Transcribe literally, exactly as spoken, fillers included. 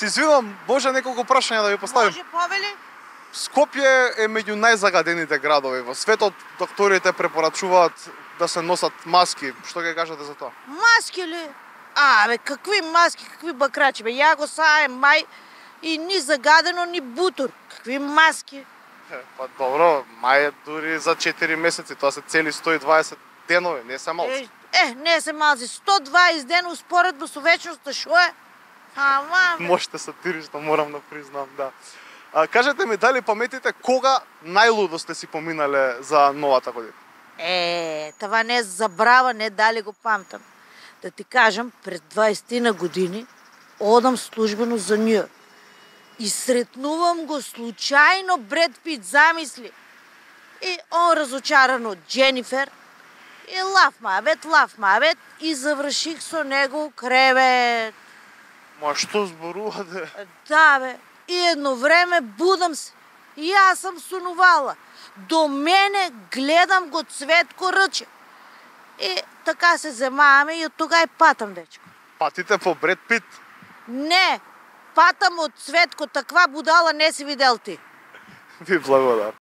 Се извинувам, може неколку прашања да ви поставим? Може, повели? Скопје е меѓу најзагадените градови во светот. Докторите препорачуваат да се носат маски. Што ќе кажете за тоа? Маски ли? А, бе, какви маски, какви бакрачи, бе. Ја го саем мај и ни загадено, ни бутур. Какви маски? Е, па добро, мај е дури за четири месеци, тоа се цели сто и дваесет денови, не се малци. Е, е, не се малци, сто и дваесет дена успоредба со вечноста, шо е? Ама, бе. Можете сатирично, морам да признам, да. А, кажете ми, дали паметите кога најлудо сте си поминале за новата година? Е, това не забрава, не дали го памтам. Да ти кажам, пред дваесет години одам службено за Њујорк. И сретнувам го случајно Бред Пит, замисли. И он разочаран од Дженифер. И лав мавет, лав мавет. И заврших со него кревет. Ма што зборувате? Да, бе. И едно време будам се. И јас сум сонувала. До мене гледам го Цветко Рче. И така се земаваме и од тога и патам, дечко. Патите по Бред Пит? Не, патам од Цветко, таква будала не си видел ти. Ви благодарам.